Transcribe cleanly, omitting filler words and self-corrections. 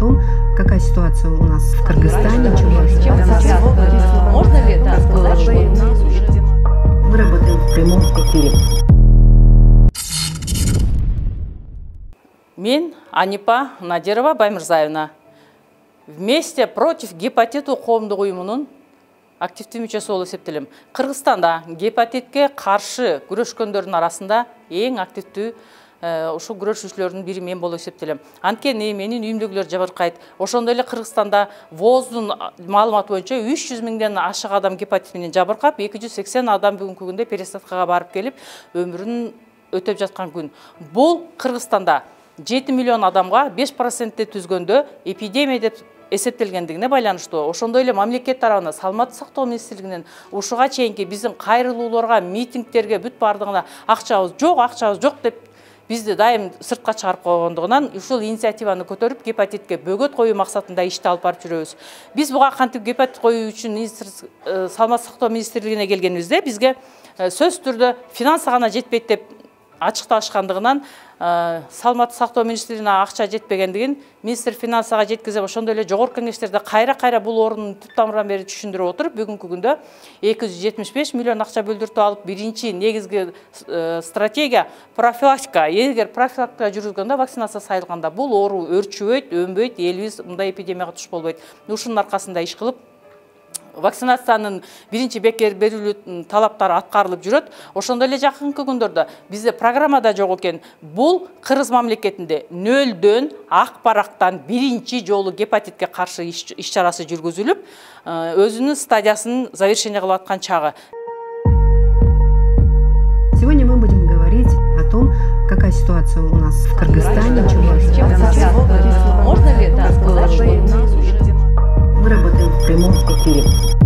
том, какая ситуация у нас в Кыргызстане. Можно ли это сказать, что Мы работаем в прямом эфире. Мен Анипа Надирова Баймырзаевна. Вместе против гепатиту коомдук уюмунун активдүү мүчөсү болуп эсептелем. Кыргызстанда гепатитке каршы күрөшкөндөрдүн арасында эң активдүү ушул күрөшүүчүлөрдүн бири мен болуп эсептелем. Анткени менин үйүмдөгүлөр жабыркайт. Ошондой эле Кыргызстанда ВОЗдун маалыматы боюнча 300 миңден ашык адам гепатит менен жабыркап, 280 адам бүгүнкү күндө пересадкага барып келип, өмүрүн өтөп жаткан күн. Бул Кыргызстанда 7 миллион адамга 5% түзгөндө эпидемия деп эсептелгендигине байланыштуу. Ошондой эле мамлекет тарабынан Саламаттык сактоо министрлигинен ушуга чейинки биздин кайрылууларга, митингтерге бүт бардыгына акчабыз жок деп бизди дайым сыртка чыгарып койгондугунан ушул инициативаны көтөрүп гепатитке бөгөт коюу максатында ишти алып барып жүрөбүз. Биз буга кантип гепатит коюу үчүн Саламаттык сактоо министрлигине келгенибизде бизге сөзсүз түрдө финансы гана жетпейт деп ачыкташкандыгынан Саламаттык сактоо министрлигине акча жетпегендигин министр финансага жеткизип, ошондой эле жогорку кеңештерде кайра бул орунун түп тамырынан бери түшүндүрүп отуруп, бүгүнкү күндө 275 миллион акча бөлдүртүп алып, биринчи негизги стратегия профилактика. Эгер профилактика жүргүзгөндө, вакцинация сайылганда бул оору өрчүбөйт, өнбөйт, элибиз мындай эпидемияга туш болбойт. Ушунун аркасында иш кылып, вакцинациянын биринчи бекер берилүү талаптары аткарылып жүрөт. Ошондой эле жакынкы күндөрдө бизде программада жок экен. Бул Кыргыз мамлекетинде нөлдөн ак барактан биринчи жолу гепатитке каршы иш чарасы жүргүзүлүп, өзүнүн стадиясын завершение кылып аткан чагы. Сегодня мы будем говорить о том, какая ситуация у нас в Кыргызстане. можно ли это сказать, что Мы работаем в прямом эфире.